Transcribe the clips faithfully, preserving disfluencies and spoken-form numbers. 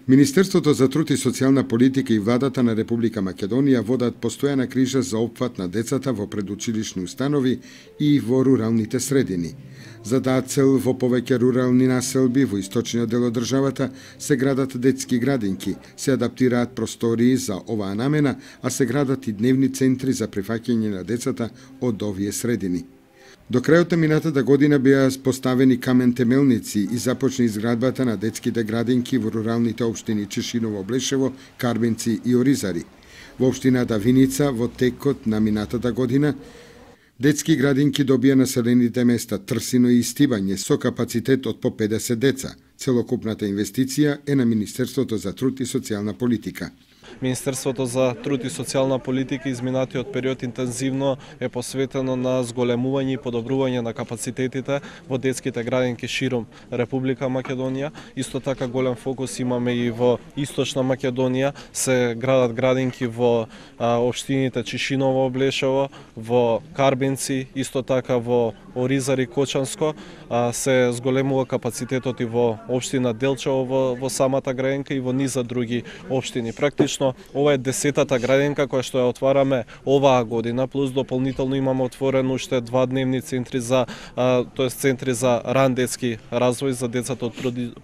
Министерството за труд и социјална политика и владата на Република Македонија водат постојана крижа за опфат на децата во предучилишни установи и во руралните средини. За таа цел во повеќе рурални населби во источниот дел од државата се градат детски градинки, се адаптираат простории за оваа намена, а се градат и дневни центри за прифаќање на децата од овие средини. До крајот на минатата година беа поставени камен темелници и започна изградбата на детските градинки во руралните општини Чешиново, Блешево, Карбенци и Оризари. Во општината Виница во текот на минатата година детски градинки добија населените места Трсино и Стибање со капацитет од по педесет деца. Целокупната инвестиција е на Министерството за труд и социјална политика. Министерството за труд и социјална политика изминатиот период интензивно е посветено на зголемување и подобрување на капацитетите во детските градинки широм Република Македонија. Исто така голем фокус имаме и во Источна Македонија, се градат градинки во а, општините Чешиново, Блешево, во Карбенци, исто така во Оризари, Кочанско, а, се зголемува капацитетот и во општина Делчево во, во самата градинка и во низа други општини. Практично ова е десетата градинка која што ја отвараме оваа година, плюс дополнително имаме отворено уште два дневни центри за, тоест центри за ран детски развој за децата од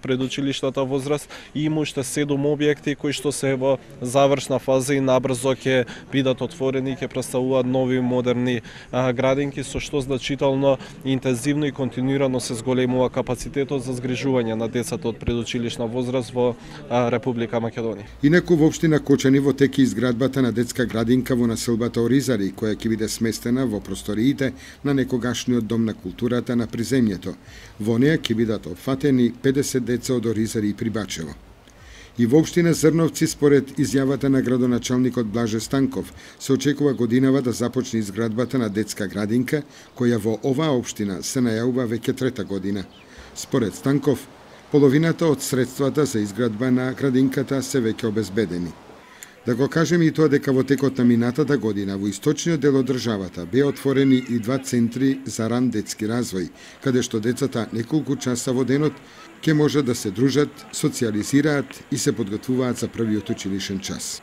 предучилишната возраст и има уште седум објекти кои што се во завршна фаза и набрзо ќе бидат отворени и ќе представуваат нови модерни а, градинки, со што значително интензивно и континуирано се зголемува капацитетот за згрижување на децата од предучилишна возраст во а, Република Македонија. Инаку во општина Кочани во теки изградбата на детска градинка во населбата Оризари, која ќе биде сместена во просториите на некогашниот дом на културата на приземјето. Во неа ќе бидат опфатени педесет деца од Оризари и Прибачево. И во општина Зрновци, според изјавата на градоначалникот Блаже Станков, се очекува годинава да започне изградбата на детска градинка, која во оваа општина се најавува веќе трета година. Според Станков, половината од средствата за изградба на градинката се веќе обезбедени. Да го кажеме и тоа дека во текот на минатата година во источниот дел од државата беа отворени и два центри за ран детски развој, каде што децата неколку часа во денот ќе можат да се дружат, социјализираат и се подготвуваат за првиот училишен час.